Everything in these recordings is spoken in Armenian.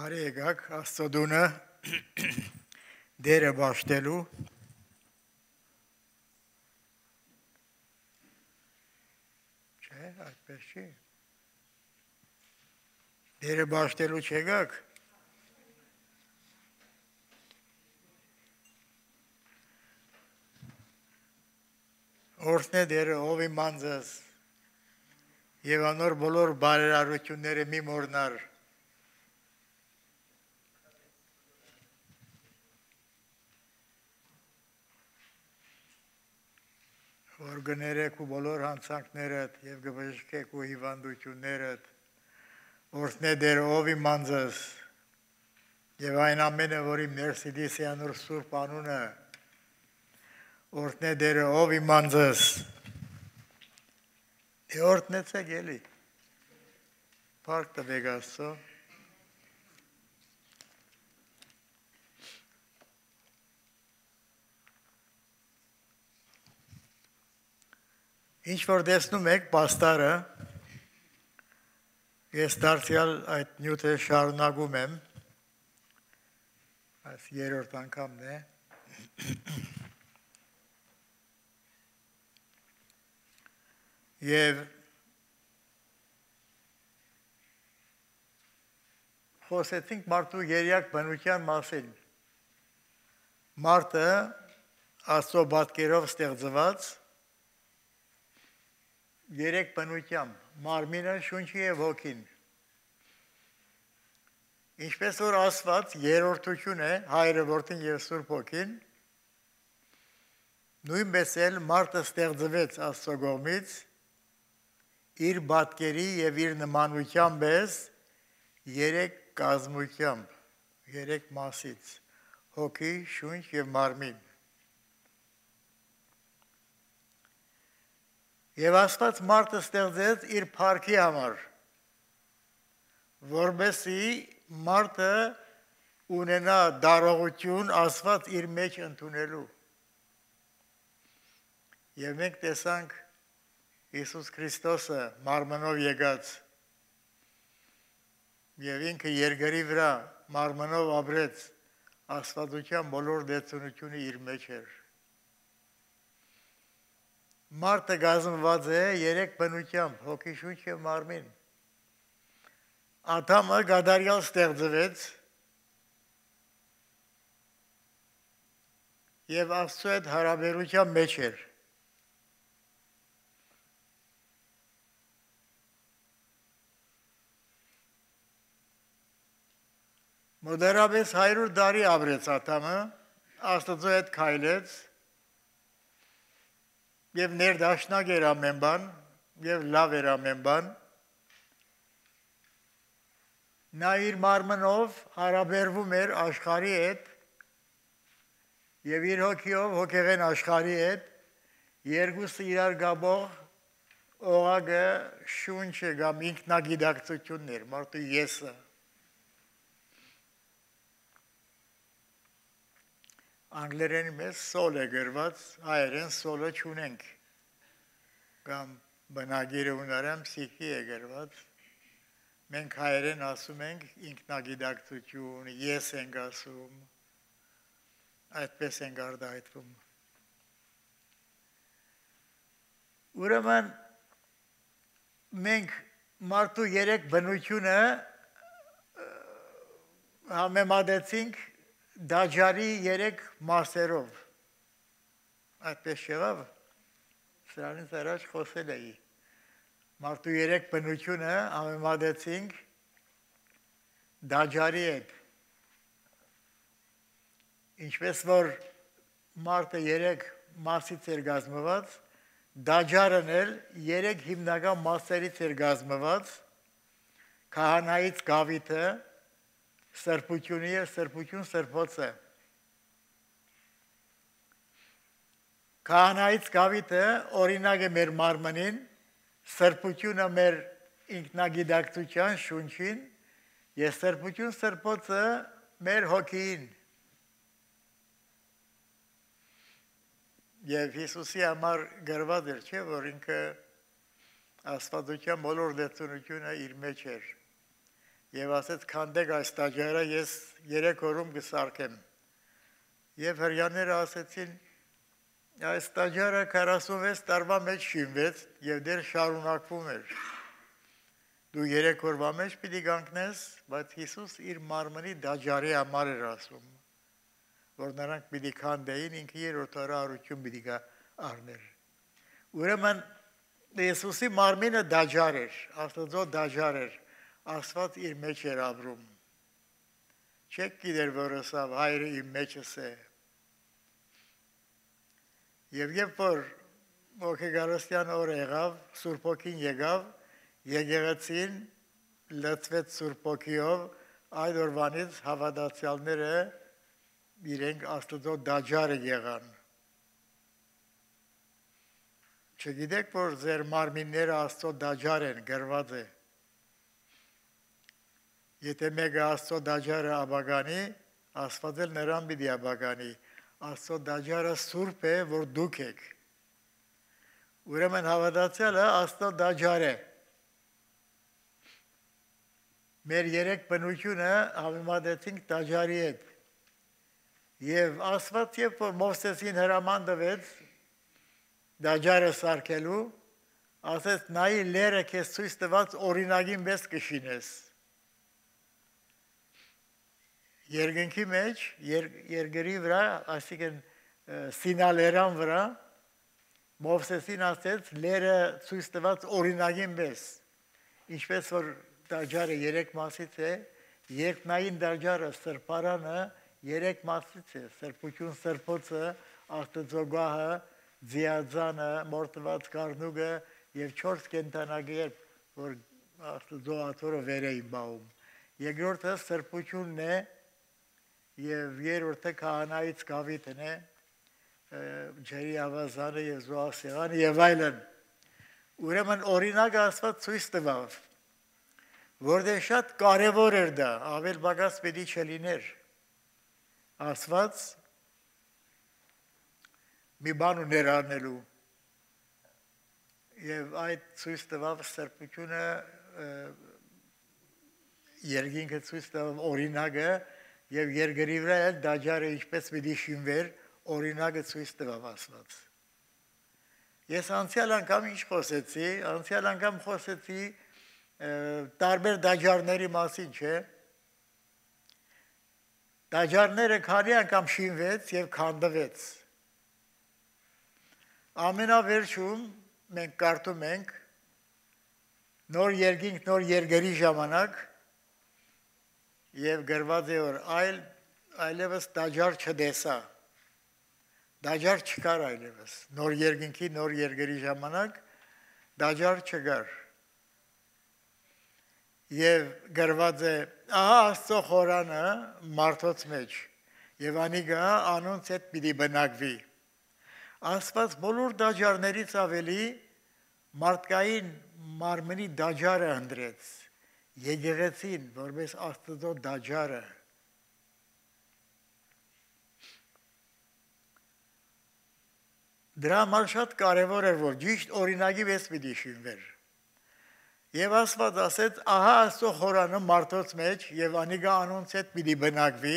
Բարի եկաք Աստծո դունը դերը բաշխելու չէ, այդպես չի դերը բաշխելու չեկաք օրհնե դերը ով իմ անձս եւ անոր բոլոր բարերարությունները մի մոռնար որ գներեք ու բոլոր հանցանքներդ եւ գբժշկեք ու հիվանդություններդ օրհնե դեր ով իմ անձս եւ այն ամենը որ իմ ներսիդիս է անոր սուրբ անունը օրհնե դեր ով իմ անձս դե օրհնեցեք էլի փառք տվեք Աստծո Ինչ որ տեսնում եք պաստարը, ես դարձյալ այդ նյութը շարունակում եմ, այս երրորդ անգամն է, և խոսեցինք մարդու երյակ բնության մասին, մարդը Աստծո պատկերով ստեղծված երեք բնությամբ, մարմինը, շունչը և հոգին։ Ինչպես որ ասված երրորդություն է, Հայրը, Որդին և Սուրբ Հոգին, նույնպես էլ մարդը ստեղծվեց Աստծո կողմից, իր պատկերի և իր նմանությամբ պես երեք կազմությամբ, երեք մասից, հոգի, շունչ և մարմին։ Եվ Աստված մարդը ստեղծեց իր փառքի համար, որպեսզի մարդը ունենա դարողություն Աստված իր մեջ ընդունելու։ Եվ մենք տեսանք Հիսուս Քրիստոսը մարմնով եկած եւ ինքը երկրի վրա մարմնով ապրեց աստվածության բոլոր դեցունությունը իր մեջ էր։ Մարդը կազմված է երեք բնությամբ, հոգի, շունչ և մարմին։ Ադամը կատարյալ ստեղծվեց և Աստծո հետ հարաբերության մեջ էր։ Մոտարապես 100 տարի ապրեց Ադամը, Աստծո հետ քայլեց և ներդաշնակ էր ամեն բան, և լավ էր ամեն բան, նա իր մարմնով հարաբերվում էր աշխարհի հետ և իր հոգիով հոգեղեն աշխարհի հետ, երկուսը իրար կապող օղակը շունչը կամ ինքնագիտակցությունն էր, մարդու եսը։ Անգլերենի մեջ soul է գրված, հայերեն soul-ը չունենք, կամ բնագիրը հունարեն psyche է գրված, մենք հայերեն ասում ենք ինքնագիտակցություն, ես ենք ասում, այդպես ենք արտահայտվում։ Ուրեմն մենք մարդու երեք բնությունը համեմատեցինք դաջարի երեք մասերով, այդպես չեղավ, սրանից առաջ խոսել էի, մարդու երեք բնությունը համեմատեցինք դաջարի հետ, ինչպես որ մարդը երեք մասից էր կազմված, դաջարն էլ երեք հիմնական մասերից էր կազմված, քահանայից գավիթը, սրբությունը և սրբություն սրբոցը։ Քահանայից գավիթը օրինակ է մեր մարմնին, սրբությունը մեր ինքնագիտակցության շունչին և սրբություն սրբոցը մեր հոգին։ Եվ Հիսուսի համար գրված էր, չէ, որ ինքը աստվածության բոլոր դեցունությունը իր մեջ էր։ եւ ասեց քանդեք այս տաճարը ես 3 օրում կսարքեմ եւ հрьяաները ասեցին այս տաճարը 46 տարվա մեջ շինվեց եւ դեռ շարունակվում էր դու 3 օրվա մեջ պիտի կանգնես բայց Հիսուս իր մարմնի տաճարի համար էր ասում որ նրանք պիտի քանդեին ինքը երրորդ օրը առություն պիտի գա առներ ուրեմն Հիսուսի մարմինը տաճար էր Աստծո տաճար էր Աստված իր մեջ էր ապրում չեք գիտեր որ ասավ հայրը իմ մեջս է եւ երբ որ ոգեգարստյան օր եղավ Սուրբ Հոգին եկավ եկեղեցին լցվեց Սուրբ Հոգիով այդ օրվանից հավատացյալները իրենք Աստծո տաճարը եղան չգիտեք որ ձեր մարմինները Աստծո տաճար են գրված է Եթե մեկը Աստծո տաճարը աբագանի, Աստված էլ նրան պիտի աբագանի։ Աստծո տաճարը սուրբ է, որ դուք եք։ Ուրեմն հավատացյալը Աստծո տաճար է։ Մեր երեք բնությունը համեմատեցինք տաճարի հետ։ Եվ Աստված երբ որ Մովսեսին հրաման տվեց տաճարը սարքելու, ասեց նայի լերը քեզ ցույց տված օրինակին պես կշինես։ Երկնքի մեջ, երկրի վրա, այսինքն Սինալերան վրա, Մովսեսին ասեց լերը ցույց տված օրինակին պես։ Ինչպես որ տաճարը 3 մասից է, երկնային տաճարը սրբարանը 3 մասից է, սրբություն սրբոցը, Աստծո գահը, ձիաձանը, մորթված կառնուկը եւ 4 կենդանակերպ, որ Աստծո աթոռը վեր էին բաղում։ Երկրորդը սրբությունն է եւ երրորդը քահանայից գավիթն է, ջերի ավազանը եւ զոհասեղանը եւ այլն։ Ուրեմն օրինակը Աստված ցույց տվավ, որտեղ շատ կարևոր էր դա, ավել բագաս պետք չլիներ։ Աստված մի բան ուներ անելու եւ այդ ցույց տվավ սրբությունը երկինքը ցույց տվավ օրինակը եւ երկրի վրա էլ տաճարը ինչպես պիտի շինվեր օրինակը ցույց տվավ Աստված։ Ես անցյալ անգամ ինչ խոսեցի, անցյալ անգամ խոսեցի տարբեր տաճարների մասին, չէ՞։ Տաճարները քանի անգամ շինվեց եւ քանդվեց։ Ամենավերջում մենք կարդում ենք նոր երկինք, նոր երկրի ժամանակ եւ գրված է որ այլևս տաճար չտեսա։ Տաճար չկար այլևս։ Նոր երկինքի, նոր երկրի ժամանակ տաճար չկար։ Եվ գրված է ահա Աստծո խորանը մարդոց մեջ եւ անիգա անոնց հետ պիտի բնակվի։ Աստված բոլոր տաճարներից ավելի մարդկային մարմնի տաճարը ընտրեց։ Եկեղեցին, որպես Աստծո տաճարը։ Դրա համար շատ կարևոր էր, որ ճիշտ օրինակի պես պիտի շինվեր։ Եվ Աստված ասեց, ահա Աստծո խորանը մարդոց մեջ եւ անիգա անոնց հետ պիտի բնակվի։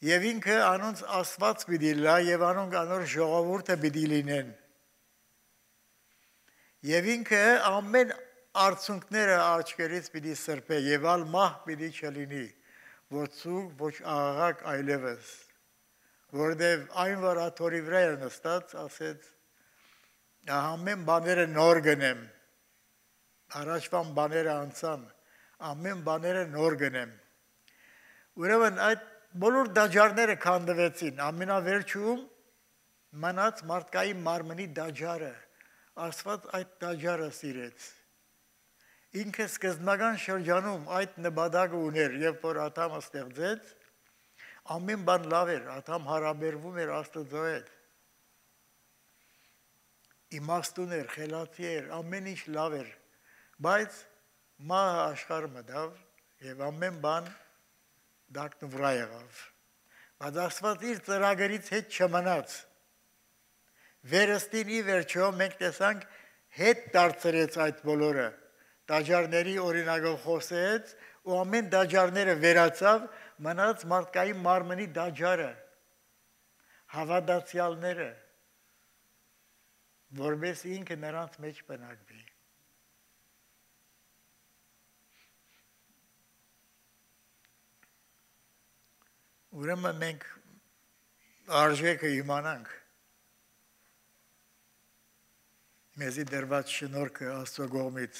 Եվ ինքը անոնց Աստված պիտի լա եւ անոնք անոր ժողովուրդը պիտի լինեն։ Եվ ինքը ամեն արցունքները աչքերից պիտի սրբե եւ ալ մահ պիտի չլինի, ոչ ցուկ, ոչ աղաղակ այլևս, որտեւ այն որ աթորի վրա էր նստած, ասեց ամեն բաները նոր գնեմ, առաջվան բաները անցան, ամեն բաները նոր գնեմ։ Ուրեմն այդ բոլոր տաճարները քանդվեցին, ամենավերջում մնաց մարդկային մարմնի տաճարը, Աստված այդ տաճարը սիրեց։ Ինքը սկզբնական շրջանում այդ նպատակը ուներ, երբ որ Ադամը ստեղծեց, ամեն բան լավ էր, Ադամ հարաբերվում էր Աստծո հետ։ Իմաստուն էր, խելացի էր, ամեն ինչ լավ էր, բայց մահը աշխարհը մտավ եւ ամեն բան դակնվրա եղավ։ Բայց Աստված իր ծրագրից հետ չմնաց։ Վերստին ի վերջո մենք տեսանք հետ դարձրեց այդ բոլորը։ դաջարների օրինակով խոսեց ու ամեն դաջարները վերացավ մնաց մարդկային մարմնի դաջարը հավատացյալները որպես ինքը նրանց մեջ բնակվի ուրեմն մենք արժեքը իմանանք մեզի դրված շնորհքը Աստծո կողմից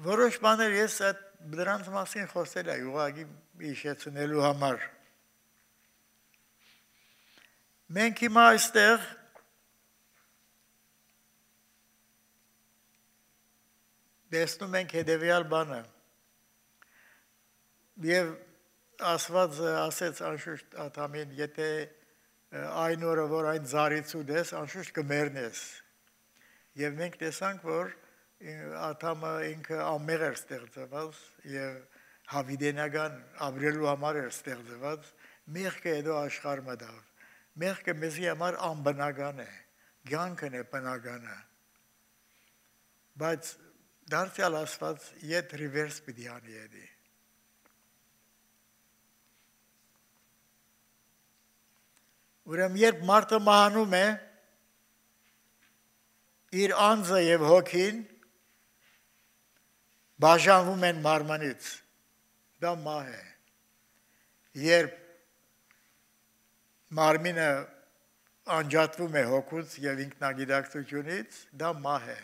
որոշ բաներ ես այդ դրանց մասին խոսել եմ ուղղակի հիշեցնելու համար մենք հիմա այստեղ տեսնում ենք հետևյալ բանը եւ Աստված ասեց անշուշտ Ադամին եթե այն օրը որ այն զարից ուտես անշուշտ կմեռնես եւ մենք տեսանք որ Ադամը ինքը ամեղ էր ստեղծված եւ հավիդենական ապրելու համար էր ստեղծված մեղքը հետո աշխարհ մտավ մեղքը մեզի համար անբնական է կյանքն է բնականը բայց դարձյալ Աստված իդ ռիվերս պիտի անի էդի ուրեմն երբ մարդը մահանում է իր անձը եւ հոգին բաժանվում են մարմնից դա մահ է երբ մարմինը անջատվում է հոգուց եւ ինքնագիտակցությունից դա մահ է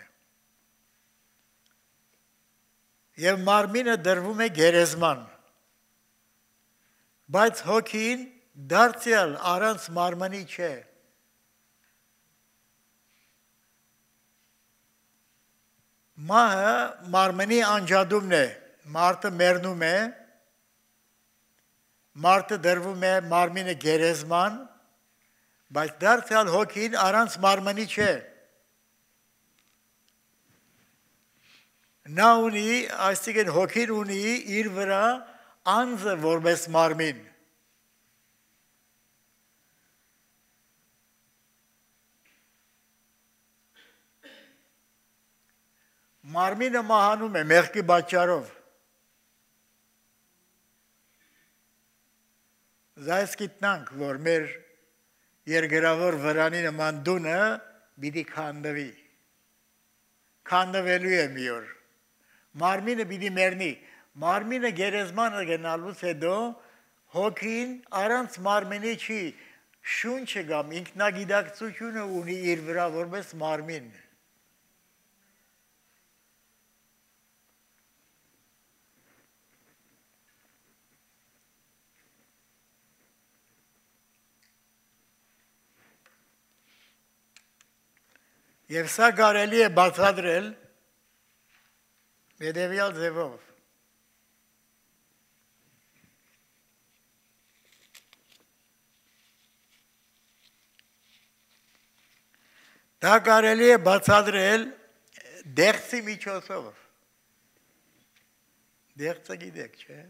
եւ մարմինը դրվում է գերեզման բայց հոգին դարձյալ առանց մարմնի չէ մահը մարմնի անջատումն է մարդը մեռնում է մարդը դրվում է մարմինը գերեզման բայց դարձյալ հոգին առանց մարմնի չէ նա ունի այսինքն հոգին ունի իր վրա անձը որպես մարմին մարմինը մահանում է մեղքի պատճառով Զայս գիտնանք, որ մեր երկրավոր վրանի նման դունը պիտի քանդվի քանդվելու է մի օր մարմինը պիտի մեռնի մարմինը գերեզմանը գնալուց հետո հոգին առանց մարմինի չի շունչը կամ ինքնագիտակցությունը ունի իր վրա որպես մարմին Եվ սա կարելի է բացատրել հետևյալ ձևով։ Դա կարելի է բացատրել դեղցի միջոցով։ Դեղցը գիտեք, չէ՞։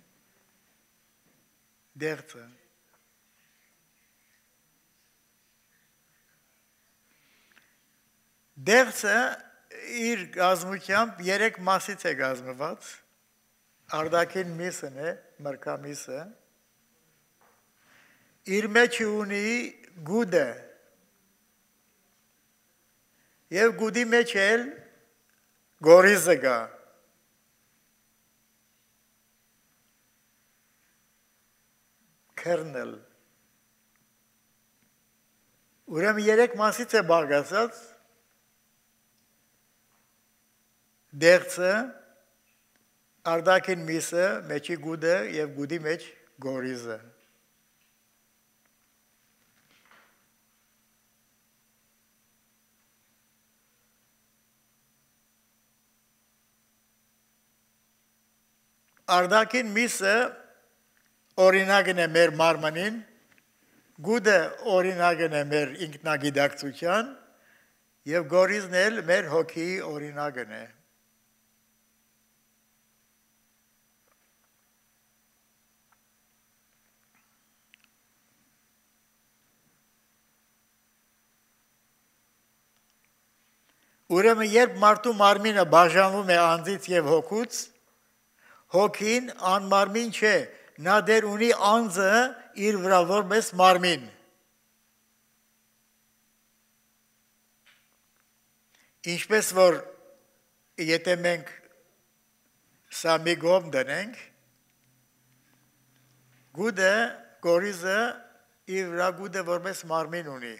Դեղցը։ Դեղցը իր գազմությամբ 3 մասից է գազմված, արդակին միսն է, մրգամիսը, իր մեջ ունի գուդը, և գուդի մեջ էլ գորիզը գա, քերնել, ուրեմն 3 մասից է բաղկացած, դեղցը, արդակին միսը, մեջի գուդը և գուդի մեջ գորիզը։ Արդակին միսը օրինակն է մեր մարմնին, գուդը օրինակն է մեր ինքնագիտակցության և գորիզն էլ մեր հոգիի օրինակն է։ Ուրեմն երբ մարդու մարմինը բաժանվում է անձից եւ հոգուց, հոգին անմարմին չէ, նա դեր ունի անձը իր վրա որպես մարմին։ Ինչպես որ եթե մենք սա մի գոմ դնենք, գուդը, գորիզը իր վրա գուդը որպես մարմին ունի։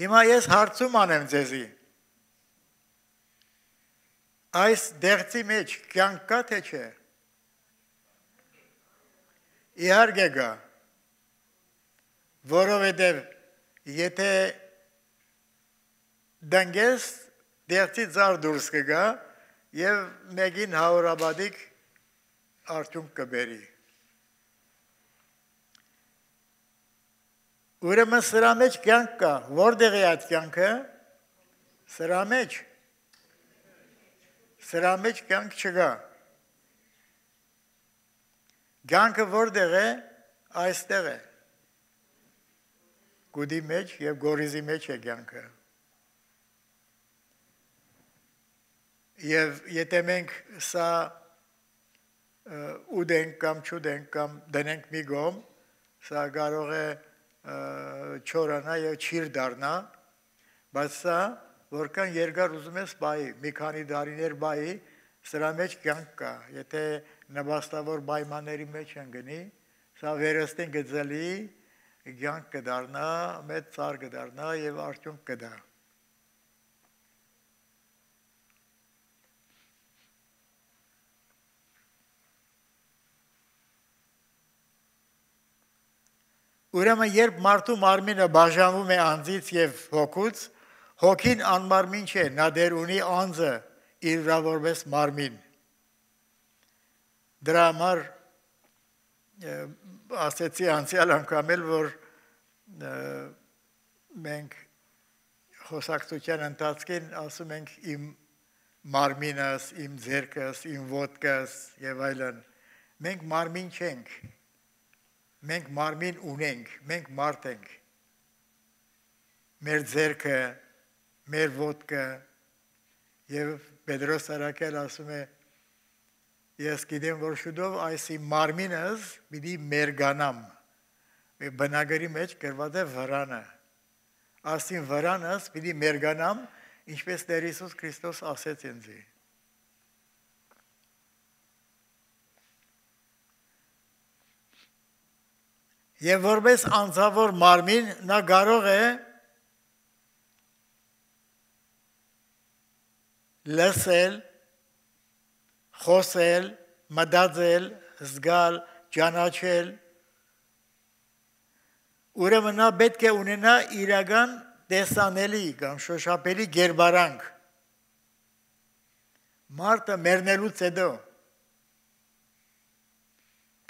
Հիմա ես հարցում անեմ ձեզի, այս դեղցի մեջ կյանք կա թե չէ։ Իհարկե կա, որովհետև եթե դանգես դեղցի ծառ դուրս կգա եւ մեկին հարյուրաբադիկ արդյունք կբերի։ Ուրեմն սրա մեջ կյանք կա, որտեղ է այդ կյանքը։ Սրա մեջ կյանք չկա։ Կյանքը որտեղ է, այստեղ է։ Գուդի մեջ եւ գորիզի մեջ է կյանքը։ Եվ եթե մենք սա ուդենք կամ չուդենք կամ դնենք մի գոմ, սա կարող է չորանա եւ չիր դառնա, բայց սա որքան երկար ուզում ես բայ, մի քանի տարիներ բայ, սրա մեջ կյանք կա, եթե նպաստավոր պայմանների մեջ ընկնի, սա վերստին գծելի կյանք կդառնա, մեծ ծառ կդառնա եւ արդյունք կտա։ Ուրեմն երբ մարդու մարմինը բաժանվում է անձից եւ հոգուց, հոգին անմարմին չէ, նա դեր ունի անձը իր վրա որպես մարմին։ Դրա համար ասեցի անցյալ անգամ էլ, որ մենք խոսակցության ընթացքին ասում ենք իմ մարմինս, իմ ձեռքս, իմ ոտքս եւ այլն։ Մենք մարմին չենք։ Մենք մարմին ունենք, մենք մարդ ենք։ Մեր ձեռքը, մեր ոտքը եւ Պետրոս Արաքել ասում է ես գիտեմ որ շուտով այս իմ մարմինս պիտի մերգանամ։ Բնագրի մեջ գրված է վրանը։ Ասին վրանս պիտի մերգանամ, ինչպես Տեր Հիսուս Քրիստոս ասեց ինձ։ Եվ որպես անձավոր մարմին նա կարող է լսել, խոսել, մտածել, զգալ, ճանաչել։ Ուրեմն նա պետք է ունենա իրական տեսանելի կամ շոշափելի գերբարանք։ Մարդը մեռնելուց հետո,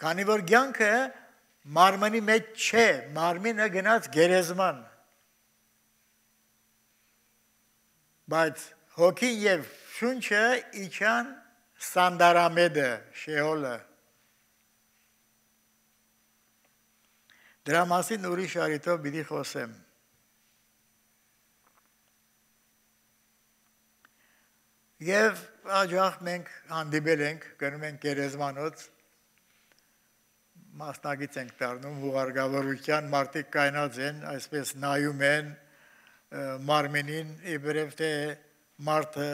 քանի որ կյանքը մարմնի մեջ չէ, մարմինը գնաց գերեզման։ Բայց հոգին եւ շունչը իջան սանդարամեդը, շեհոլը։ Դրա մասին ուրիշ առիթով պիտի խոսեմ։ Եվ աջախ մենք հանդիպել ենք, գնում ենք գերեզմանոց, մասնագից ենք դառնում հուղարկավորության, մարդիկ կայնած են, այսպես նայում են մարմինին, իբրև թե մարդը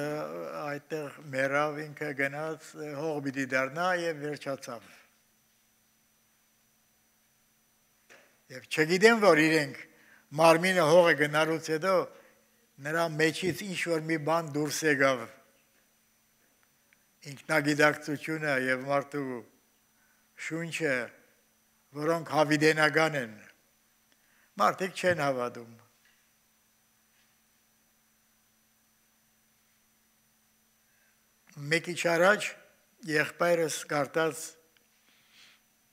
այդտեղ մեռավ, ինքը գնաց, հող պիտի դառնա եւ վերջացավ։ Եվ չգիտեմ, որ իրենք մարմինը հողը գնալուց հետո նրա մեջից ինչ-որ մի բան դուրս եկավ։ Ինքնագիտակցությունը եւ մարդու շունչը, որոնք հավիտենական են, մարդիկ չեն հավատում։ Մեկ քիչ առաջ եղբայրս կարդաց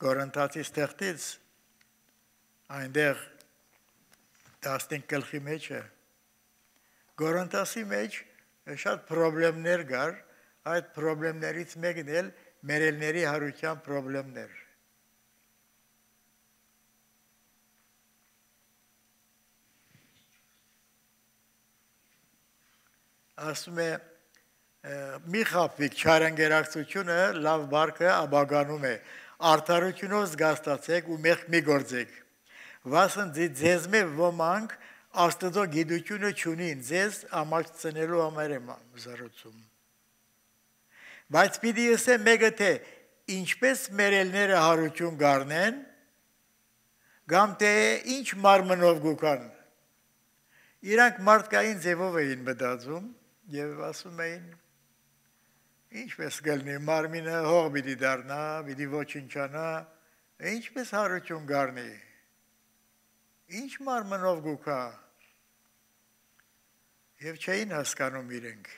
Կորինթացիս թղթից, այնտեղ 15 գլխի մեջ է։ Կորինթասի մեջ շատ խնդիրներ կար, այդ խնդիրներից մեկն էլ մերելների հարության խնդիրներ։ Ասում է մի խապվիկ չարանգերակցությունը լավ բարգը աբագանում է, արդարությունով զգաստացեք ու մեղք մի գործեք, վասն ձեզ մե ոմանք Աստծո գիտությունը չունին, ձեզ ամաչցնելու համար եմ զարուցում։ Բայց պիտի ասեմ մեկը թե ինչպես մերելները հարություն գարնեն, կամ թե ինչ մարմնով գուքան, իրանք մարդկային ձևով էին մտածում եւ ասում էին ինչպես գլնի մարմինը հող պիտի դառնա, պիտի ոչնչանա, ինչպես հարություն գարնի, ինչ մարմնով գուքա, եւ չէին հասկանում իրենք։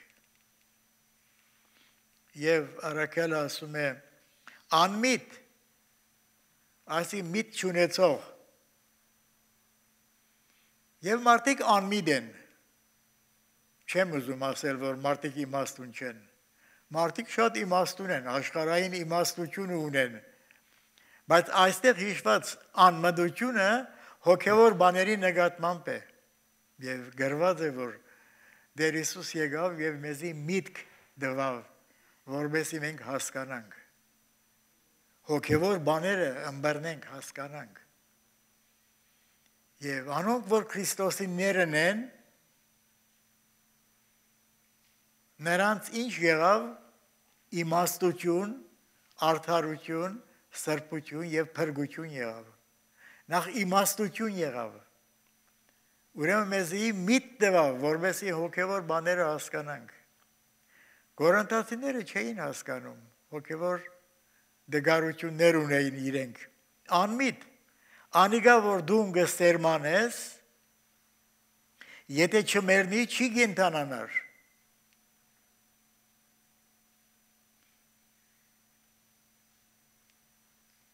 Եվ Արաքելը ասում է անմիտ, այսի միտ չունեցող, եւ մարդիկ անմիտ են, չեմ ուզում ասել, որ մարդիկ իմաստուն չեն, մարդիկ շատ իմաստուն են, աշխարհային իմաստություն ունեն, բայց այստեղ հիշված անմտությունը հոգևոր բաների նկատմամբ է, եւ գրված է, որ Դեր Հիսուս եկավ եւ մեզի միտք տվավ, որովհետեւ մենք հասկանանք։ Հոգևոր բաները ըմբռնենք, հասկանանք։ Եվ անոնք, որ Քրիստոսի ներն են, նրանց ինչ եղավ իմաստություն, արդարություն, սրբություն եւ փրկություն եղավ։ Նախ իմաստություն եղավ։ Ուրեմն մեզի միտ տվավ, որովհետեւ հոգևոր բաները հասկանանք։ Կորինթացիները չէին հասկանում, հոգևոր դգարություններ ունեին իրենք։ Անմիտ, անիգա որ դու գսերմանես, եթե չմեռնի, չի կենթանանար։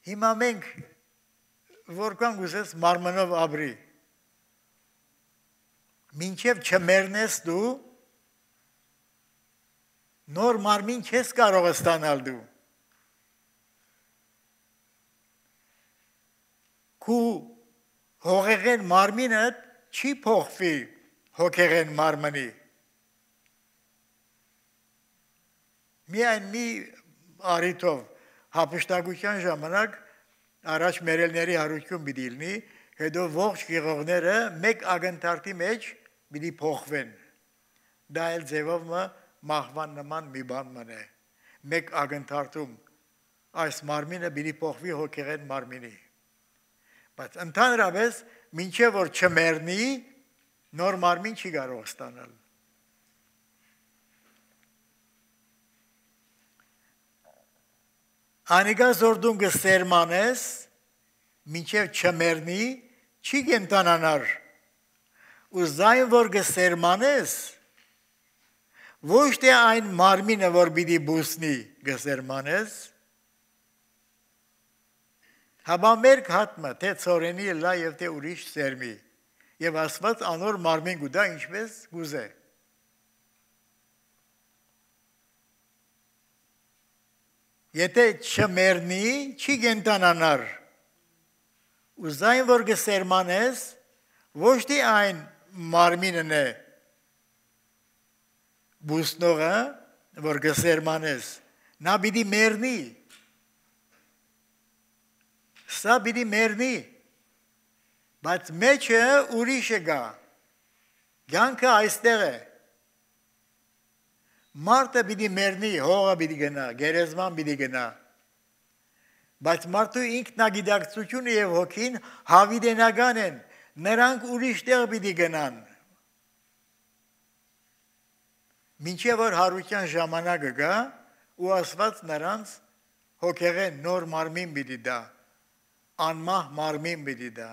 Հիմա մենք որքան գուզես մարմնով ապրի, մինչև չմեռնես դու, նոր մարմին չես կարող ստանալ դու։ Քու հողեղեն մարմինը չի փոխվի հոգեղեն մարմնի։ Միայն մի արիթով հապշտակության ժամանակ առաջ մերելների հարություն պիտի լինի, հետո ողջ գեղողները մեկ ակնթարթի մեջ պիտի փոխվեն։ Դա էլ ձևով մահվան նման մի բան մնե։ Մեկ ակնթարթում այս մարմինը պիտի փոխվի հոգեղեն մարմինի։ Բայց ընդհանրապես մինչև որ չմեռնի, նոր մարմին չի կարող ստանալ։ Անիգա զորդուն գսերմանես, մինչև չմեռնի, չի կենթանանար։ Ու զայն որ գսերմանես, ոչ թե այն մարմինը, որ պիտի բուսնի գսերմանես, Հաբամերկ հատմը, թե ծորենի լա և թե ուրիշ սերմի, և ասված անոր մարմին գուդա ինչպես գուզե։ Եթե չմեռնի, չի կենթանանար։ Ու զայն որ գսերմանես, ոչ թե այն մարմինն է բուսնողը, որ գսերմանես, նա պիտի մեռնի։ Սա պիտի մեռնի, բայց մեջը ուրիշը գա, կյանքը այստեղ է, մարդը պիտի մեռնի, հողը պիտի գնա, գերեզման պիտի գնա, բայց մարդու ինքնագիտակցությունը և հոգին հավիտենական են, նրանք ուրիշ տեղ պիտի գնան, մինչև որ հարության ժամանակը գա, ու ասված նրանց հոգեղեն նոր մարմին պիտի դա, անմահ մարմին պիտի դա։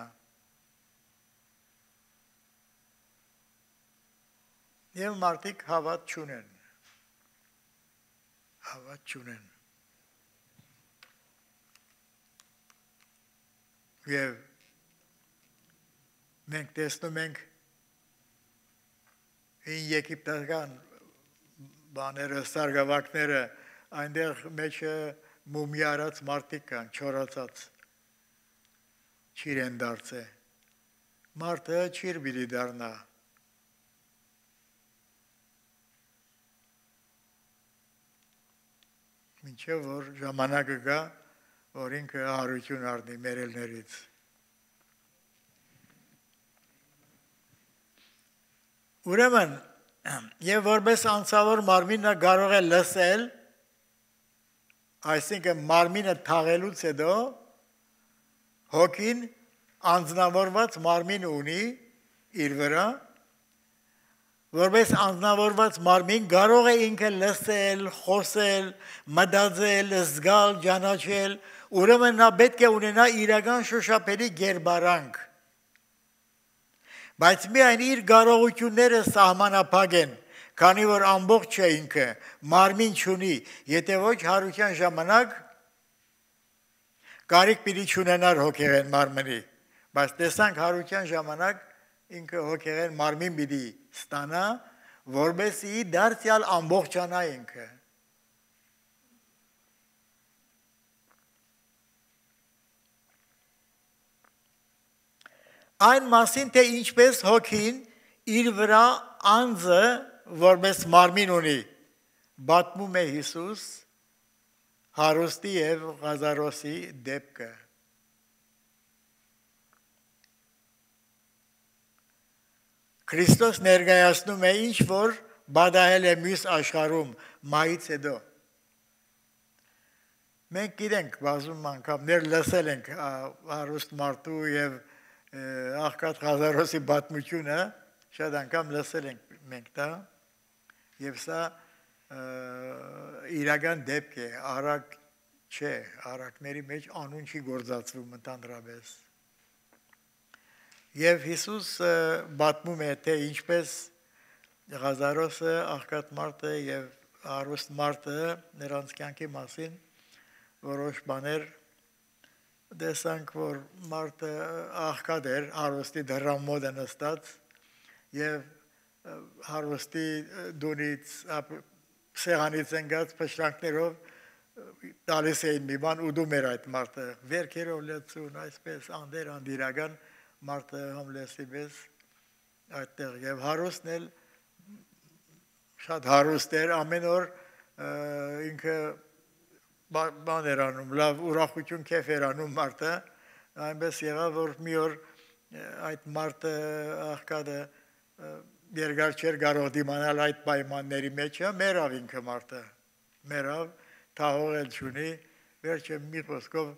Եվ մարդիկ հավատ չունեն։ Հավատ չունեն։ Եվ մենք տեսնում ենք այն եգիպտական բաները, սարգավակները, այնտեղ մեջը մումի արած մարդիկ կան, չորացած, չիրեն դարձե, մարդը չիր բիդի դարնա, մինչև որ ժամանակը գա, որ ինքը հարություն արդի մերելներից, ուրեմն, եւ որպես անցավոր մարմինը կարող է լսել, այսինքն մարմինը թաղելուց հետո հոգին անձնավորված մարմին ունի իր վրա, որպես անձնավորված մարմին կարող է ինքը լսել, խոսել, մտածել, զգալ, ճանաչել, ուրեմն նա պետք է ունենա իրական շոշափելի գերբարանք, բայց միայն իր կարողությունները սահմանափակ են, քանի որ ամբողջ չէ ինքը, մարմին չունի, եթե ոչ հարության ժամանակ կարիք պիտի չունենար հոգեղեն մարմնի, բայց տեսանք հարության ժամանակ ինքը հոգեղեն մարմին պիտի ստանա, որպեսզի դարձյալ ամբողջանա ինքը։ Այն մասին, թե ինչպես հոգին իր վրա անձը որպես մարմին ունի, պատմում է Հիսուս հարուստի և Ղազարոսի դեպքը։ Քրիստոս ներկայացնում է ինչ որ բադահել է մյուս աշխարհում մահից հետո։ Մենք գիտենք բազում անգամներ լսել ենք հարուստ մարդու և աղքատ Ղազարոսի պատմությունը, շատ անգամ լսել ենք մենք դա, և սա իրական դեպք է, արագ չէ, արագների մեջ անուն չի գործածվում ընդհանրապես։ Եվ Հիսուս պատմում է, թե ինչպես Ղազարոսը, աղքատ մարդը և հարուստ մարդը նրանց կյանքի մասին որոշ բաներ տեսանք, որ մարդը աղքատ էր, հարուստի դռան մոտ նստած և հարուստի դունից սեղանից ընկած փշրանքներով տալիս էին մի բան, ուտում էր այդ մարդը, վերքերով լցուն, այսպես անդեր անդիրական մարդը հոմլեսի պես այդտեղ և հարուստն էլ շատ հարուստ էր, ամեն օր ինքը բան էր անում, լավ ուրախություն քեֆ էր անում մարդը, այնպես եղավ, որ մի օր այդ մարդը աղքատը երկար չէր կարող դիմանալ այդ պայմանների մեջը, մեռավ ինքը մարդը, մեռավ, թաղող էլ չունի, վերջը մի խոսքով,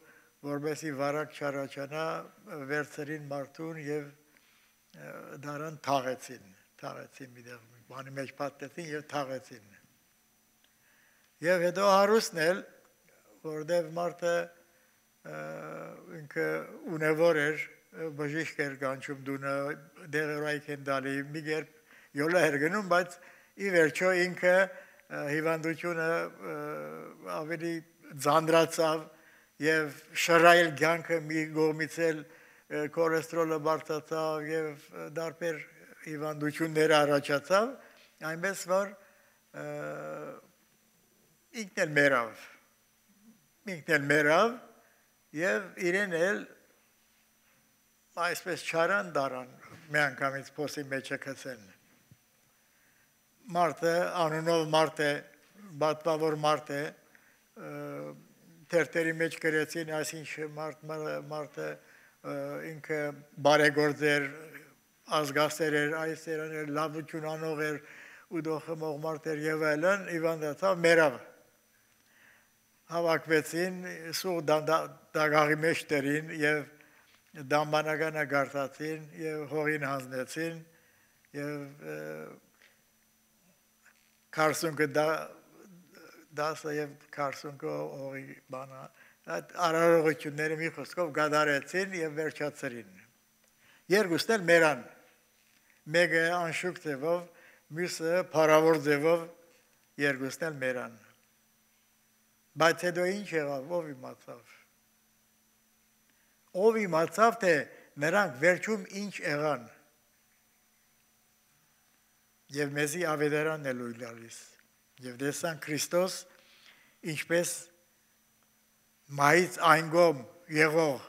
որպեսզի վարակ չառաջանա, վերցրին մարդուն և դարան թաղեցին միտեղ, բանի մեջ պատտեցին և թաղեցին։ Եվ հետո հարուստն էլ, որտև մարդը ինքը ունևոր էր, բժիշկ էր կանչում դունը, դեղերայք են դալի, մի կերպ յոլա էր գնում, բայց ի վերջո ինքը հիվանդությունը ավելի ձանձրացավ և շռայլ կյանքը մի կողմից էլ կոլեստրոլը բարձրացավ և դարբեր հիվանդություններ առաջացավ, այնպես որ ինքն էլ մեռավ և իրեն էլ այսպես չարան դարան մի անգամից փոսի մեջը գցեն։ Մարդը, անունով մարդ է, պատվավոր մարդ է, թերթերի մեջ գրեցին, այսինչ մարդը ինքը բարեգործ էր, ազգասեր էր, այս էր, լավություն անող էր, ուտող խմող մարդ էր և այլն, հիվանդացավ, մեռավ։ Հավաքվեցին, սուղ դագաղի մեջ դրին և դամբանականը գարտացին և հողին հանձնեցին և քարսունքը դասը և քարսունքը հողի բանը, այդ արարողությունները մի խոսքով գադարեցին և վերջացրին։ Երկուսն էլ մեռան, մեկը անշուք ձևով, մյուսը փառավոր ձևով, երկուսն էլ մեռան։ Բայց հետո ինչ եղավ, ով իմացավ։ Ով իմացավ, թե նրանք վերջում ինչ եղան։ Եվ մեզի ավետարանն է լույս տալիս։ Եվ տեսանք Քրիստոս ինչպես մայից այնգոմ եղող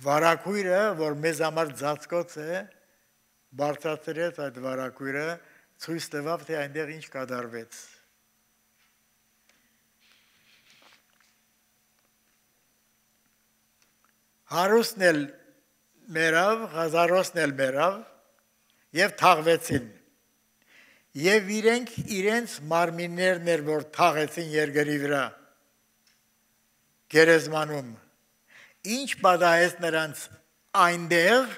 վարակույրը, որ մեզ համար ծածկոց է, բարձրացրեց այդ վարակույրը, ցույց տվավ, թե այնտեղ ինչ կատարվեց։ Հարուստն էլ մերավ, հազարոսն էլ մերավ եւ թաղվեցին։ Եվ իրենք իրենց մարմիններն էր, որ թաղեցին երկրի վրա, գերեզմանում։ Ինչ պատահեց նրանց այնտեղ,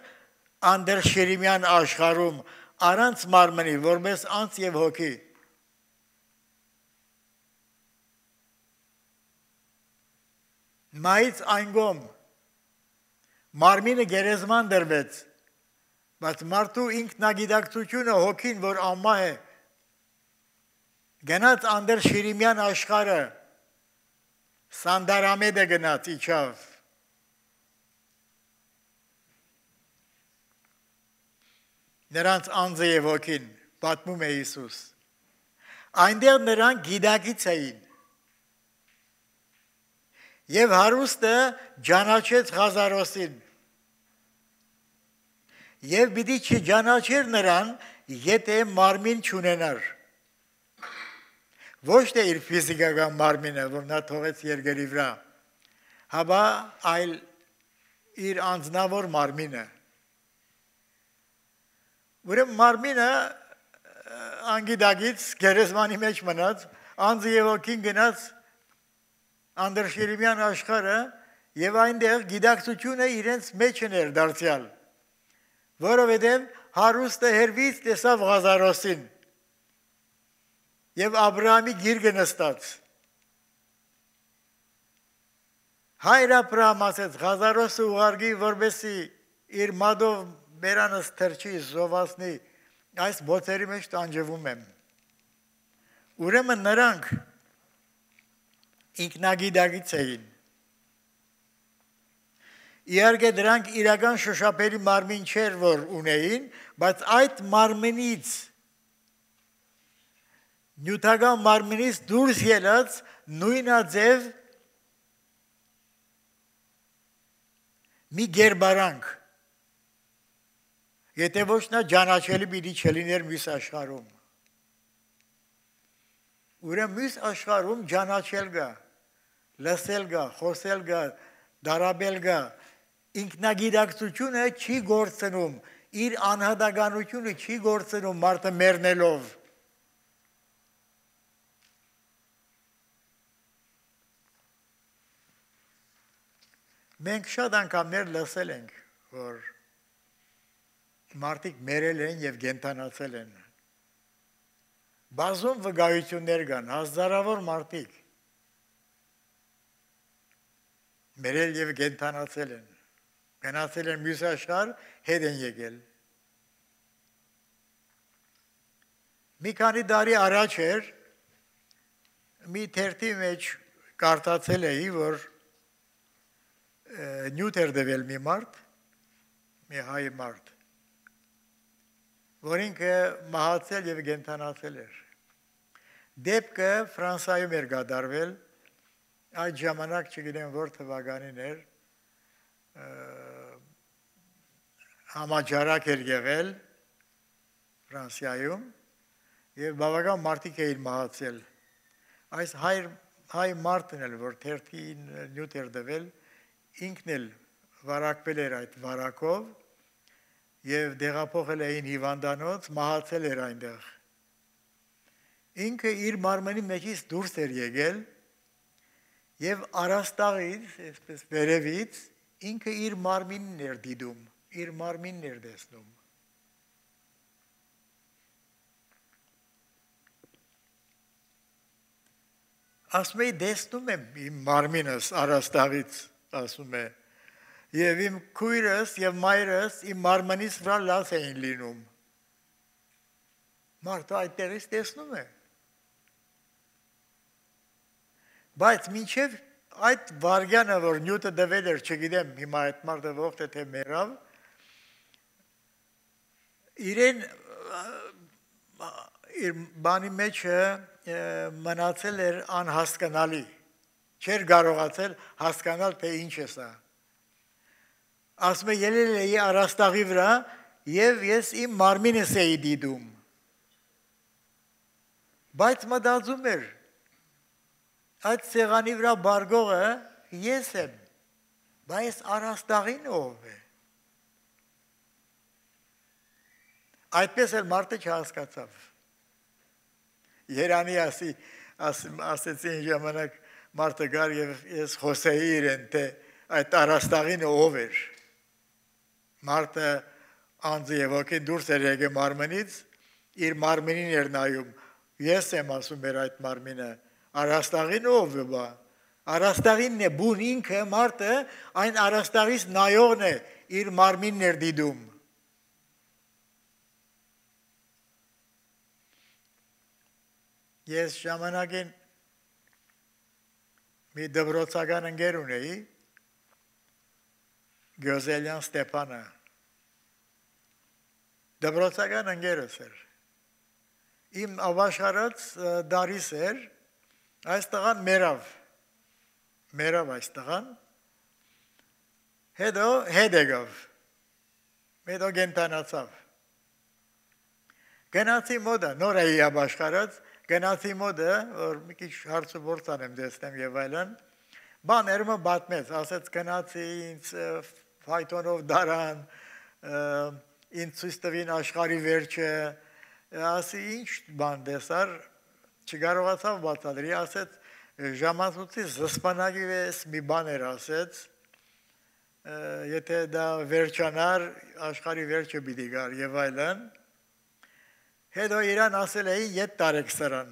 անդրշիրիմյան աշխարհում, առանց մարմնի, որպես անձ եւ հոգի։ Մայից այնգոմ մարմինը գերեզման դրվեց, բայց մարդու ինքնագիտակցությունը հոգին, որ ամահ է, գնաց անդրշիրիմյան աշխարհը, Սանդարամեդը գնաց իջավ։ Նրանց անձը եւ հոգին, պատմում է Հիսուս։ Այնտեղ նրանք գիտակից էին։ Եվ հարուստը ճանաչեց Ղազարոսին։ Եվ պիտի չճանաչեր նրան, եթե մարմին չունենար։ Ոչ թե իր ֆիզիկական մարմինը, որ նա թողեց երկրի վրա, հապա այլ իր անձնավոր մարմինը։ Ուրեմն մարմինը անգիտակից գերեզմանի մեջ մնաց, անձը եւ հոգին գնաց անդրշիրիմյան աշխարհը եւ այնտեղ գիտակցությունը իրենց մեջ էր դարձյալ, որովհետեւ հարուստը հերվից տեսավ Ղազարոսին եւ Աբրահամի գիրկը նստած։ Հայր Աբրահամ ասեց Ղազարոսը ուղարկի, որպեսզի իր մատով բերանս թրջի, զովացնի, այս բոցերի մեջ տանջվում եմ։ Ուրեմն նրանք ինքնագիտակից էին։ Իհարկե դրանք իրական շոշափելի մարմին չէր, որ ունեին, բայց այդ մարմինից նյութական մարմինից դուրս ելած նույնաձև մի գերբարանք, եթե ոչ նա ճանաչելի պիտի չլիներ մյուս աշխարհում։ Ուրեմն մյուս աշխարհում ճանաչել գա, լսել գա, խոսել գա, դարաբել գա, ինքնագիտակցությունը չի գործնում, իր անհատականությունը չի գործնում մարդը մեռնելով։ Մենք շատ անգամներ լսել ենք, որ մարդիկ մերել են եւ կենդանացել են։ Բազում վկայություններ կան, հազարավոր մարդիկ մերել եւ կենդանացել են, գնացել են մյուս աշխարհ, հետ են եկել։ Մի քանի տարի առաջ էր մի թերթի մեջ կարդացել էի, որ նյութ էր դվել մի մարդ, մի հայ մարդ, որ ինքը մահացել եւ կենդանացել էր։ Դեպքը Ֆրանսիայում էր կատարվել, այդ ժամանակ չգիտեմ որ թվականին էր, համաճարակ էր եղել Ֆրանսիայում եւ բավական մարդիկ էին մահացել։ Այս հայ մարդն էլ, որ թերթին նյութ էր դվել, ինքն էլ վարակվել էր այդ վարակով եւ դեղափոխել էին հիվանդանոց, մահացել էր այնտեղ։ Ինքը իր մարմնի մեջից դուրս էր եկել եւ առաստաղից, այսպես վերևից, ինքը իր մարմինն էր դիտում, իր մարմինն էր տեսնում։ Ասում է տեսնում եմ իմ մարմինս առաստաղից, ասում է, եւ իմ քույրս եւ մայրս իմ մարմնից վրա լաց էին լինում։ Մարդը այդտեղից տեսնում է։ Բայց մինչև այդ վարգյանը, որ նյութը դվել էր, չգիտեմ, հիմա այդ մարդը ողջ է թե մեռավ, իրեն իր բանի մեջ մնացել էր անհասկանալի, Չէր կարողացել հասկանալ, թե ինչ է սա։ Ասում է ելել էի առաստաղի վրա եւ ես իմ մարմինս էի դիտում։ Բայց մտածում էր, այդ սեղանի վրա բարգողը ես եմ, բայց առաստաղին ով է։ Այդպես էլ մարդը չհասկացավ։ Երանի ասեցին ժամանակ մարդը գար եւ ես խոսեի իրեն, թե այդ առաստաղին ով էր։ Մարդը անձը եւ ոգին դուրս էր եկել մարմնից, իր մարմինին էր նայում։ Ես եմ ասում էր այդ մարմինը, առաստաղին ով է բա։ Առաստաղինն է բուն ինքը մարդը, այն առաստաղից նայողն է, իր մարմինն էր դիտում։ Ես ժամանակին մի դպրոցական ընկեր ունեի, Գյոզելյան Ստեփանը, դպրոցական ընկերս էր, իմ ավաշխարած դարիս էր, այս տղան մերավ այս տղան, հետո հետ եկավ, հետո գենտանացավ, գնացի մոտը, նոր էի ավաշխարած, գնացի մոտը, որ մի քիչ հարցը որց անեմ դեսնեմ եւ այլն, բաները բատմեց, ասեց գնացի ինձ ֆայտոնով դարան, ինձ ցույց տվին աշխարհի վերջը, ասի ինչ բան դեսար, չկարողացավ բացատրի, ասեց ժամացույցի զսպանակի վես մի բան էր ասեց, եթե դա վերջանար, աշխարհի վերջը պիտի գար եւ այլն, հետո իրան ասել էի ետ տարեք սրան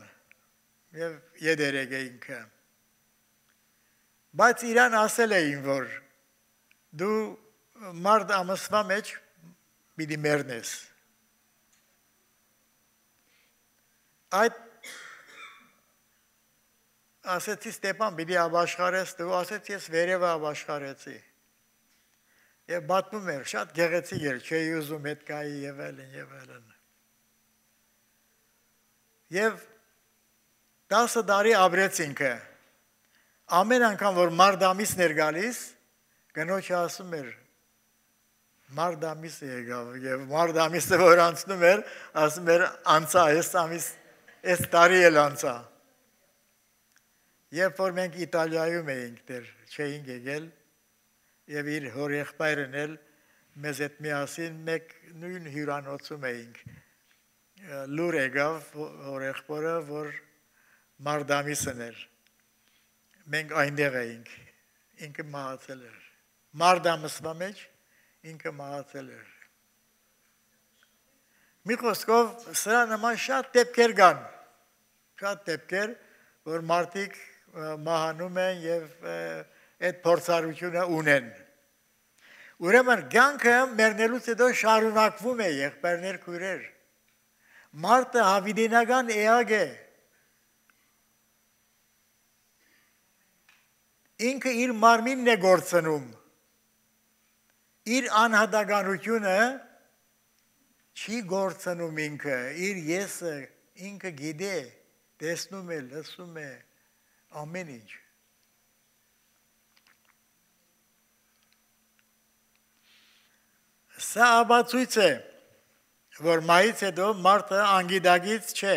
եւ եդերեք ինքը, բայց իրան ասել էին, որ դու մարդ ամսվա մեջ պիտի մեռնես, այդ ասեցի Ստեփան պիտի ապաշխարես, դու ասեց ես վերևը ապաշխարեցի եւ բատմում էր, շատ գեղեցիկ էր, չէի ուզում հետ գայի եւ այլն եւ այլն եւ 10 տարի ապրեց ինքը, ամեն անգամ, որ մարդ ամիսն էր գալիս, կնոջը ասում էր, մարդ ամիսը եկավ, եւ մարդ ամիսը, որ անցնում էր, ասում էր, անցա, այս տարի էլ անցա։ Երբ որ մենք Իտալիայում էինք դեր, չէինք եկել, եւ իր հոր եղբայրն էլ մեզ հետ միասին մեկ նույն հյուրանոցում էինք, լուր եկավ հոր եղբորը, որ մարդ ամիսն էր, մենք այնտեղ էինք, ինքը մահացել էր, մարդ ամսվա մեջ ինքը մահացել էր։ Մի խոսքով սրա նման շատ դեպքեր կան, շատ դեպքեր, որ մարդիկ մահանում են եւ այդ փորձառությունը ունեն։ Ուրեմն կյանքը մեռնելուց հետո շարունակվում է, եղբայրներ, քույրեր։ Մարդը հավիտենական էակ է։ Ինքը իր մարմինն է գործնում։ Իր անհատականությունը չի գործնում ինքը, իր եսը ինքը գիտե, տեսնում է, լսում է, ամեն ինչ։ Սա ապացույց է, որ մահից հետո մարդը անգիտակից չէ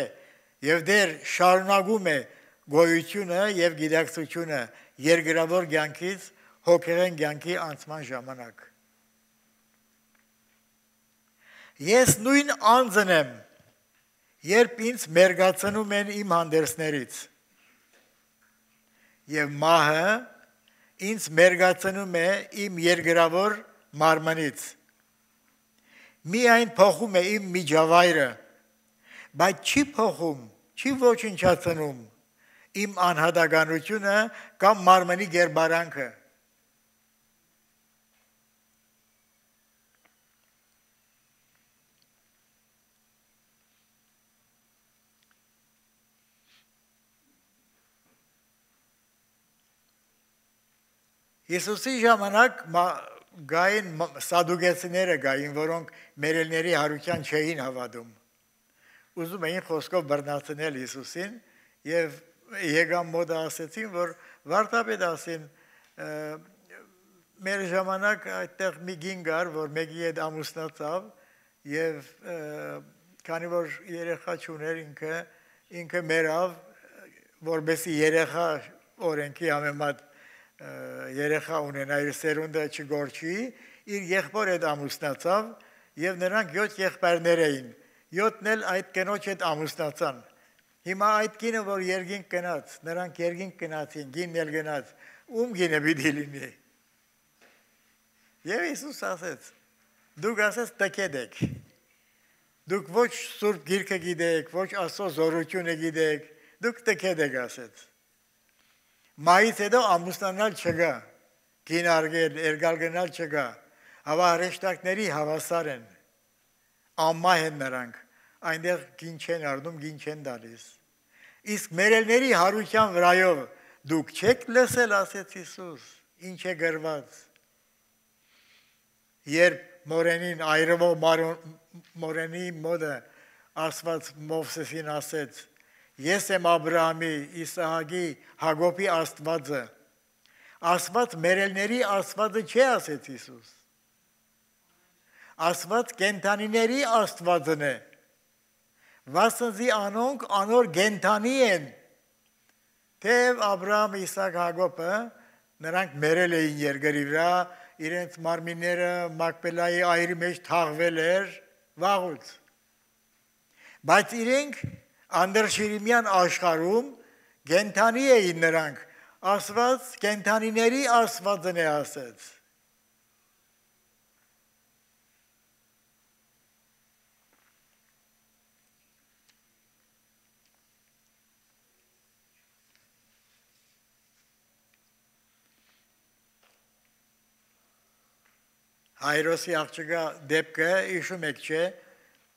եւ դեռ շարունակում է գոյությունը եւ գիտակցությունը երկրավոր կյանքից հոգեղեն կյանքի անցման ժամանակ։ Ես նույն անձն եմ, երբ ինձ մերգացնում են իմ հանդերձներից եւ մահը ինձ մերգացնում է իմ երկրավոր մարմնից։ Միայն փոխում է իմ միջավայրը, բայց չի փոխում, չի ոչնչացնում իմ անհատականությունը կամ մարմնի գերբարանքը։ Հիսուսի ժամանակ գային սադուկեցիները գային, որոնք մերելների հարության չէին հավատում։ Ուզում էին խոսքով բռնացնել Հիսուսին եւ եկան մոտ ասեցին, որ Վարդապետ ասին մեր ժամանակ այդտեղ մի գին կար, որ մեկի հետ ամուսնացավ եւ քանի որ երեխա չուներ ինքը մեռավ, որբեսի երեխա օրենքի համեմատ երեխա ունենա իր սերունդը չգորչի, իր եղբոր հետ ամուսնացավ եւ նրանք 7 եղբայրներ էին, 7-ն էլ այդ կնոջ հետ ամուսնացան։ Հիմա այդ գինը, որ երկինք գնաց, նրանք երկինք գնացին, գինն էլ գնաց, ում գինը պիտի լինի։ Եվ Հիսուս ասեց, դուք ասեց տկեդեք, դուք ոչ Սուրբ Գիրքը գիտեք, ոչ Աստծո զորությունը գիտեք, դուք տկեդեք ասեց։ Մայից հետո ամուսնանալ չգա, գին արգել, երգալ գնալ չգա, հավա հրեշտակների հավասար են, ամմահ են նրանք, այնտեղ գին չեն արդում, գին չեն դալիս։ Իսկ մերելների հարության վրայով դուք չեք լսել, ասեց Հիսուս, ինչ է գրված։ Երբ մորենին, այրվող մորենի մոդը Աստված Մովսեսին ասեց, ես եմ Աբրահամի, Իսահակի, Հակոբի Աստվածը, Աստված մերելների Աստվածը չէ, ասեց Հիսուս։ Աստված կենթանիների Աստվածն է, վասնզի անոնք անոր գենթանի են, թեև Աբրահամ, Իսահակ, Հակոբը նրանք մերել էին երկրի վրա, իրենց մարմինները Մակպելայի այրի մեջ թաղվել էր վաղուց։ Բայց իրենք անդրշիրիմյան աշխարհում գենթանի էին նրանք, Աստված կենթանիների Աստվածն է ասեց։ Հայրոսի աղջկա դեպքը իշում եք չէ,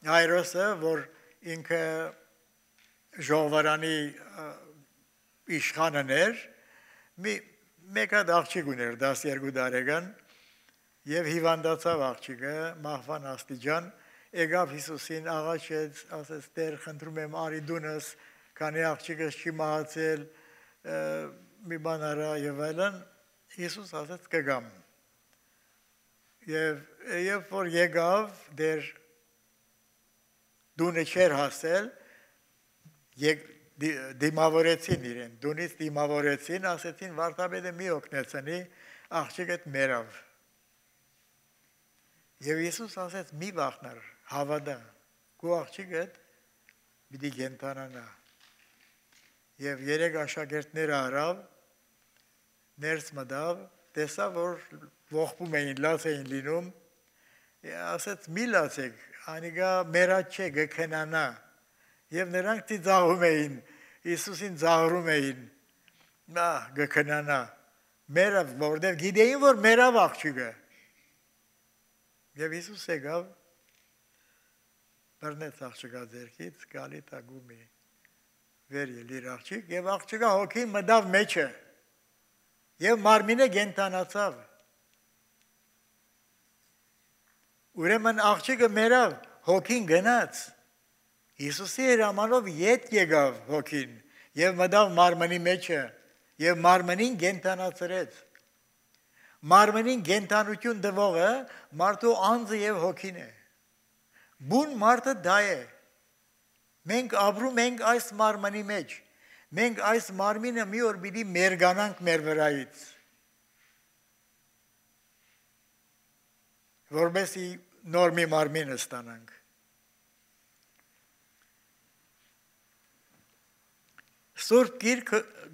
Հայրոսը, որ ինքը ժողովարանի իշխանն էր, մեկ հատ աղջիկ ուներ 12 տարեկան եւ հիվանդացավ աղջիկը, մահվան աստիճան, եկավ Հիսուսին աղաչեց, ասեց Տեր, խնդրում եմ արի դունս, քանի աղջիկս չի մահացել, մի բան արա եւ այլն, Հիսուս ասեց կգամ։ Եվ որ եկավ դեր դունը չեր հասել, դիմավորեցին իրեն, դունից դիմավորեցին, ասեցին վարդապետը մի օգնեցնի, աղջիկդ մեռավ։ Եվ Հիսուս ասեց մի վախնար, հավատա, քո աղջիկդ պիտի կենթանանա։ Եվ 3 աշակերտները արավ, ներս մտավ, տեսավ, որ ողբում էին, լաց էին լինում, ասեց մի լացեք, անիկա մերած չէ, գքնանա, և նրանք ծիծաղում էին, Հիսուսին ծաղրում էին, գքնանա, մերավ, որտև գիտեին, որ մերավ աղջիկը, և Հիսուս եկավ, բռնեց աղջկա ձեռքից, գալի տագումի, վեր ելիր աղջիկ, և աղջկա հոգին մտավ մեջը, և մարմինը կենթանացավ։ Ուրեմն աղջիկը մեռավ, հոգին գնաց։ Հիսուսի հրամանով ետ եկավ հոգին եւ մտավ մարմնի մեջը եւ մարմնին կենթանացրեց։ Մարմնին կենթանություն տվողը մարդու անձը եւ հոգին է։ Բուն մարդը դա է։ Մենք ապրում ենք այս մարմնի մեջ։ Մենք այս մարմինը մի օր պիտի մերգանանք մեր վրայից, որպեսզի նոր մի մարմին ստանանք։ Սուրբ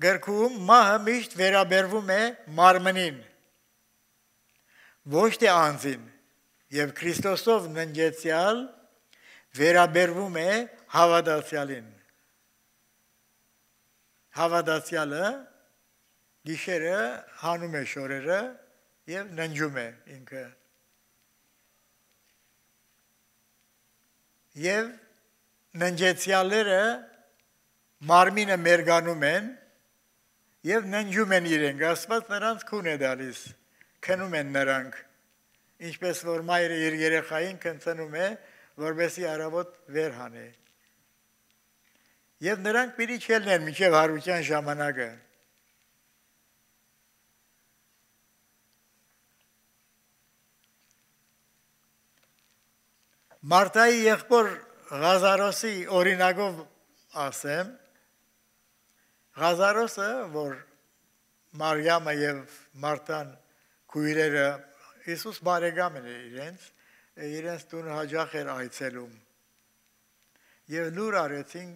գրքում մահը միշտ վերաբերվում է մարմնին, ոչ թե անձին, եւ Քրիստոսով ննջեցյալ վերաբերվում է հավատացյալին։ Հավատացյալը գիշերը հանում է շորերը եւ ննջում է ինքը։ Եվ ննջեցյալները մարմինը մերգանում են եւ ննջում են իրենք, Աստված նրանց քուն է տալիս, քնում են նրանք, ինչպես որ մայրը իր երեխային քնցնում է, որպեսզի առավոտ վեր հանե։ Եվ նրանք պիտի չելնեն մինչև հարության ժամանակը։ Մարտայի եղբոր Ղազարոսի օրինակով ասեմ, Ղազարոսը, որ Մարիամը եւ Մարտան քույրերը Հիսուս բարեկամն էր իրենց տուն հաջող էր այցելում։ Եվ լուր արեցին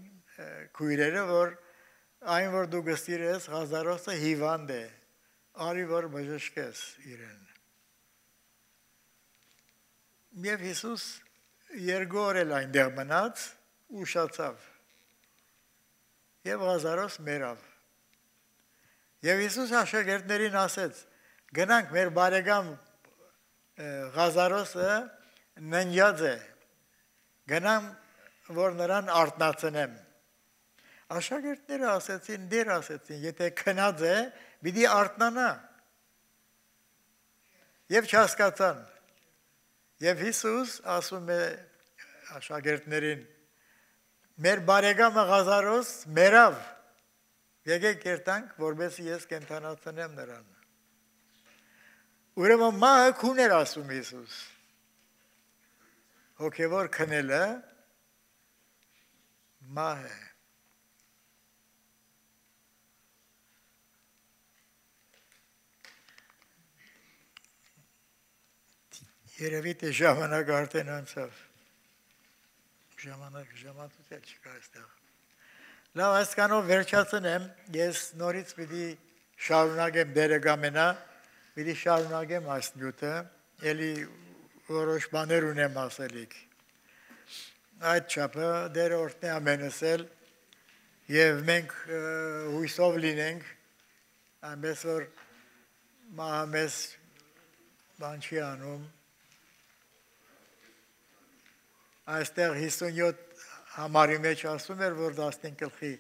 քույրերը, որ այն որ դու գստիրես Ղազարոսը հիվանդ է, արի որ բժշկես իրեն։ Եվ Հիսուս երկու օր էլ այնտեղ մնաց, ուշացավ։ Եվ Ղազարոս մեռավ։ Եվ Հիսուս աշակերտներին ասեց. գնանք մեր բարեկամ Ղազարոսը ննջած է, գնամ որ նրան արթնացնեմ։ Աշակերտները ասեցին, դեր ասեցին, եթե քնած է, պիտի արթնանա։ Եվ չհասկացան։ Եվ Հիսուս ասում է աշակերտներին, մեր բարեկամը Ղազարոս մեռավ, եկեք երթանք, որպեսզի ես կենդանացնեմ նրան։ Ուրեմն մահը քուն էր ասում Հիսուս։ Հոգևոր քնելը մահ է։ Երևի թե ժամանակ արդեն անցավ։ Ժամանակ չկա այստեղ։ Լավ, այսքանով վերջացնեմ, ես նորից պիտի շարունակեմ դերը գամենա, պիտի շարունակեմ այս նյութը, էլի որոշ բաներ ունեմ ասելիք։ Այդ չափը դերը օրհնի ամենս էլ, եւ մենք հույսով լինենք, այնպես որ մահը մեզ բան չի անում։ Այստեղ 57 համարի մեջ ասում էր, որ 15 գլխի,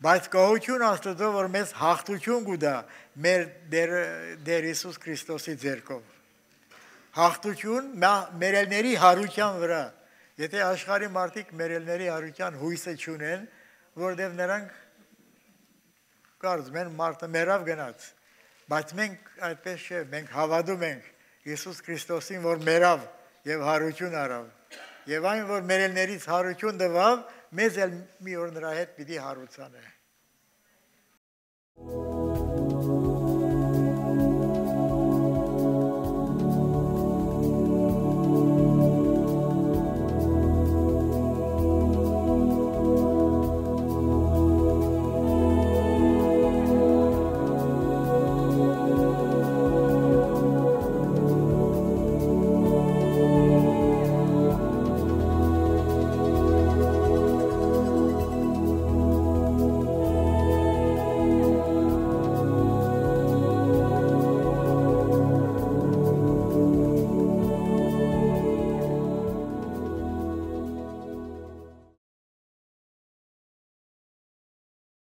բայց գոհություն Աստծո, որ մեզ հաղթություն կուտա մեր Տեր Հիսուս Քրիստոսի ձեռքով։ Հաղթություն մերելների հարության վրա։ Եթե աշխարհի մարդիկ մերելների հարության հույսը չունեն, որտեղ նրանք կարծում են մարդը մեռավ գնաց, բայց մենք այդպես չէ, մենք հավատում ենք Հիսուս Քրիստոսին, որ մեռավ եւ հարություն արավ։ Եվ այն, որ մերելներից հարություն տվավ, մեզ էլ մի օր նրա հետ պիտի հարուցանե։